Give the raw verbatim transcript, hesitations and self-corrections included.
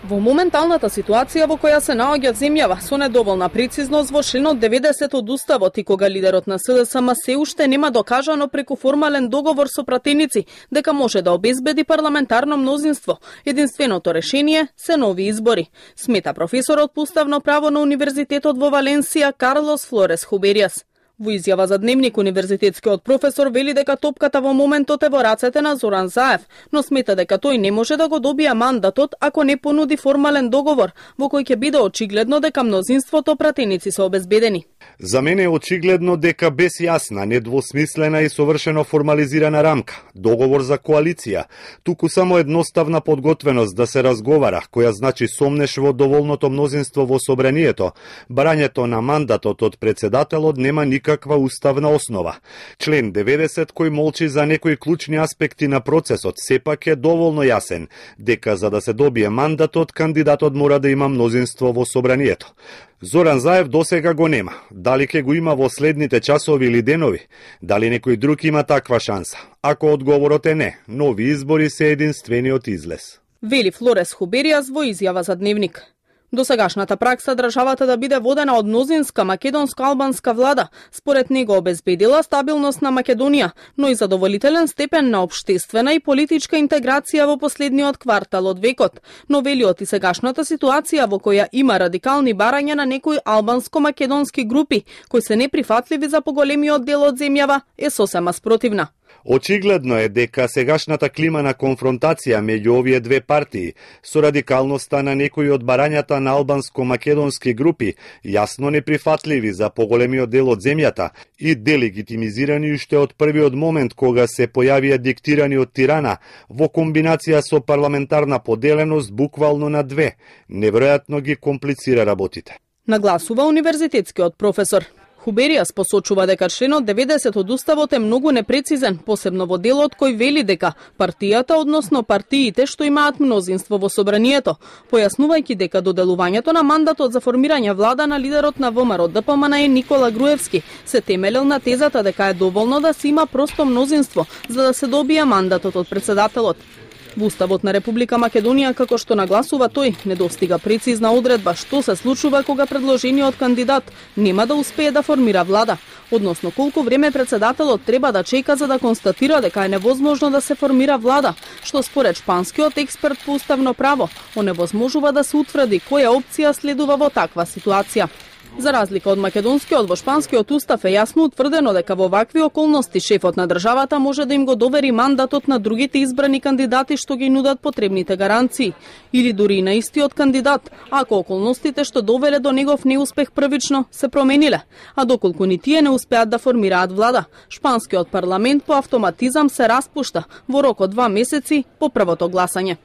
Во моменталната ситуација во која се наоѓа земјава со недоволна прецизност во членот деветдесет од Уставот и кога лидерот на С Д С М се уште нема докажано преку формален договор со пратеници дека може да обезбеди парламентарно мнозинство, единственото решение се нови избори, смета професорот по уставно право на Универзитетот во Валенсија Карлос Флорес Хуберијас. Во изјава за Дневник универзитетскиот професор вели дека топката во моментот е во рацете на Зоран Заев, но смета дека тој не може да го добија мандатот ако не понуди формален договор во кој ќе биде очигледно дека мнозинството пратеници се обезбедени. За мене е очигледно дека без јасна, недвосмислена и совршено формализирана рамка, договор за коалиција, туку само едноставна подготвеност да се разговара, која значи сомнеш во доволното мнозинство во собранието, барањето на мандатот од председателот нема никаква уставна основа. Член деветдесет кој молчи за некои клучни аспекти на процесот сепак е доволно јасен, дека за да се добие мандатот, кандидатот мора да има мнозинство во собранието. Зоран Заев досега го нема. Дали ќе го има во следните часови или денови? Дали некој друг има таква шанса? Ако одговорот е не, нови избори се единствениот излез. Вели Флорес Хуберијас во изјава за Дневник. Досегашната пракса државата да биде водена од мнозинска македонско-албанска влада, според него обезбедила стабилност на Македонија, но и задоволителен степен на општествена и политичка интеграција во последниот квартал од векот. Но вели од и сегашната ситуација во која има радикални барања на некои албанско-македонски групи, кои се неприфатливи за поголемиот дел од земјава, е сосема спротивна. Очигледно е дека сегашната клима на конфронтација меѓу овие две партии со радикалноста на некои од барањата на албанско-македонски групи јасно неприфатливи за поголемиот дел од земјата и делегитимизирани уште од првиот момент кога се појавија диктирани од Тирана во комбинација со парламентарна поделеност буквално на две, неверојатно ги комплицира работите. Нагласува универзитетскиот професор. Хуберијас посочува дека членот деветдесет од Уставот е многу непрецизен, посебно во делот кој вели дека партијата, односно партиите што имаат мнозинство во собранието, појаснувајќи дека доделувањето на мандатот за формирање влада на лидерот на ВМРО Д П М Н е Никола Груевски се темелел на тезата дека е доволно да се има просто мнозинство за да се добие мандатот од председателот. Во Уставот на Република Македонија, како што нагласува тој, недостига прецизна одредба што се случува кога предложениот кандидат нема да успее да формира влада, односно колку време председателот треба да чека за да констатира дека е невозможно да се формира влада, што според шпанскиот експерт по уставно право оневозможува да се утврди која опција следува во таква ситуација. За разлика од македонскиот, во шпанскиот устав е јасно утврдено дека во вакви околности шефот на државата може да им го довери мандатот на другите избрани кандидати што ги нудат потребните гаранции, или дури и на истиот кандидат, ако околностите што довеле до негов неуспех првично се промениле, а доколку ни тие не успеат да формираат влада, шпанскиот парламент по автоматизам се распушта во рок од два месеци по првото гласање.